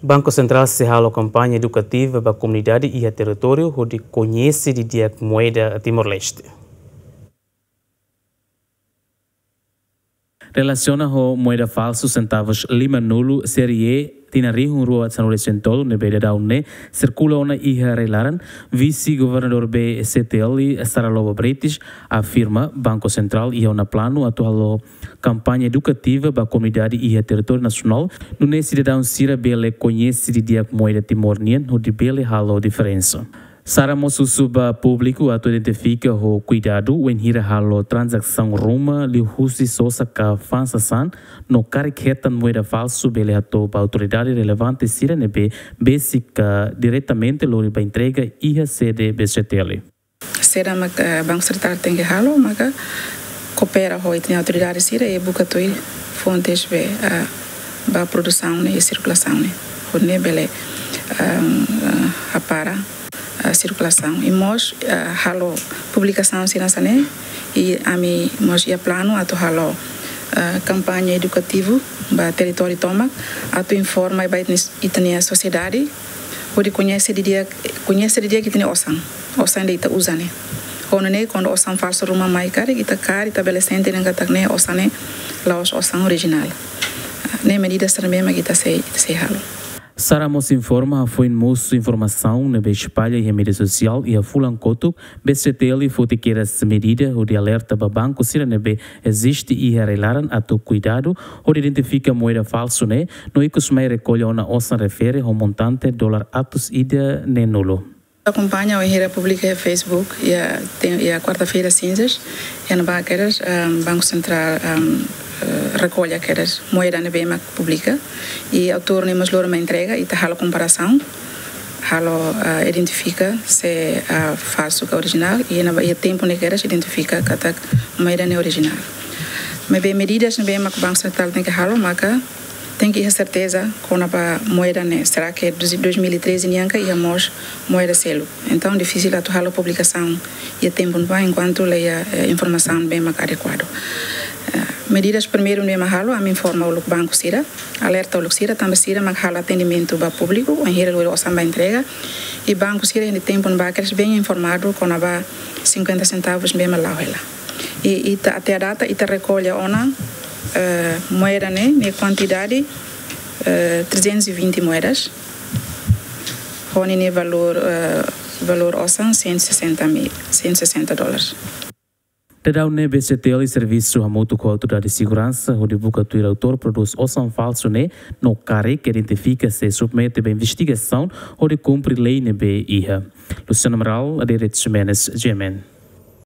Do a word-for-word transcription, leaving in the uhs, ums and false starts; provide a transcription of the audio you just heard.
Banku Sentrál sei halo kampaña edukativa ba komunidade iha territóriu hodi koñese didi'ak moeda Timor-Leste. Relasiona ho moeda falsu sentavus lima-nulu série tinan rihun rua sanulu-resin-tolu ne'ebé daudaun ne'e sirkula ona iha rai-laran, Vise-Governadór B C T L, Sara Lobo Brites, afirma Banku Sentrál iha ona planu atu halo kampaña edukativa ba komunidade iha territóriu nasionál, nune'e sidadaun sira bele koñese didi'ak moeda Timor nian hodi bele halo diferensa. Sara mós husu ba públiku atu identifika ho kuidadu wainhira halo tranzasaun ruma liuhusi sosa ka fa'an sasán no karik hetan moeda falsu, bele hato'o ba autoridade relevante sira ne'ebé besik ka diretamente lori ba entrega iha sede B C T L. Saida mak, eh, Banku Sentrál tenke halo, maka koopera ho ita-nia autoridade sira i buka tuir fontes be, eh, ba produsaun ne'e i sirkulasaun ne'e. Hodi nune'e bele, eh, eh, hapara, eh, sirkulasaun. I mós, eh, halo publikasaun sira hanesan ne'e, i ami mós iha planu atu halo, eh, kampaña edukativu ba territóriu tomak, atu informa ba ita-nia, ita-nia sosiedade, hodi koñese didi'ak, koñese didi'ak ita-nia osan. Osan ida ita uza ne'e. Ho nune'e kuandu osan falsu ruma mai karik, ita karik ita bele sente dehan katak ne'e osan ne'e la'ós osan orijinál. Ne'e medida sira ne'ebé mak ita sei, ita sei halo. Sara mós informa hafoin mosu informasaun ne'ebé espalla iha média sosiál iha fulan kotuk, B C T L foti kedas medida hodi alerta ba banku sira ne'ebé eziste iha rai-laran atu kuidadu hodi identifika moeda falsu ne'e, no ikus mai rekolla ona osan refere ho montante dolar atus ida neen-nulu. Akompaña wainhira publika iha Facebook, iha, ten, iha kuarta-feira sinzas, iha ne'ebá kedas, ehm, Banku Sentrál, ehm, eh, rekolla kedas moeda ne'ebé mak publika, i autór ne'e mós lori mai entrega, i ita halo komparasaun, halo, eh, identifika se, eh, falsu ka orijinál, i iha ne'ebá, iha tempu ne'e kedas identifika katak moeda ne'e orijinál. Maibé medidas ne'ebé mak Banku Sentrál tenke halo, maka tenke iha serteza kona-ba moeda ne'e. Será que dois mil e treze nian ka iha mós moeda seluk? Entaun, difisil atu halo publikasaun iha tempu ne'ebá enkuantu la iha, eh, informasaun ne'ebé mak adekuadu. Eh, medidas primeiru ne'ebé mak halo, ami informa uluk banku sira, alerta uluk sira, tanba sira mak halo atendimentu ba públiku, wainhira lori osan ba entrega, i banku sira iha tempu ne'ebá kedas bem informadu kona-ba cinquenta centavos ne'ebé mak la'o hela. I ita, até a data, ita rekolla ona, eh, moeda ne'e, nia kuantidade, eh, trezentos e vinte moedas. Ho ninia valór, eh, valór osan cento e sessenta mil, cento e sessenta dólares. Daudaun ne'e B C T L servisu hamutuk ho autoridade seguransa hodi buka tuir autór produz osan falsu ne'e, no karik identifika sei submete ba investigasaun hodi kumpre lei ne'ebé iha. Luciano Amaral, Adérito Ximenes, G M N.